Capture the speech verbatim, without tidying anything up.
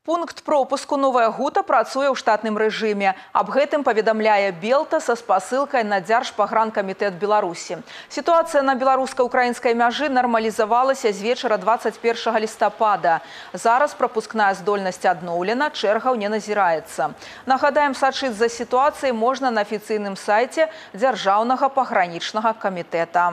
Пункт пропуску «Новая Гута» працуе ў штатным рэжыме. Аб гэтым паведамляе Белта са спасылкай на Дзяржпагранкамітэт Беларусі. Сітуацыя на беларуска-украінскай мяжы нармалізавалася з вечара дваццаць першага лістапада. Зараз прапускная здольнасць адноўлена, чэргаў не назіраецца. Нагадаем, сачыць за сітуацыяй можна на афіцыйным сайце Дзяржаўнага пагранічнага камітэта.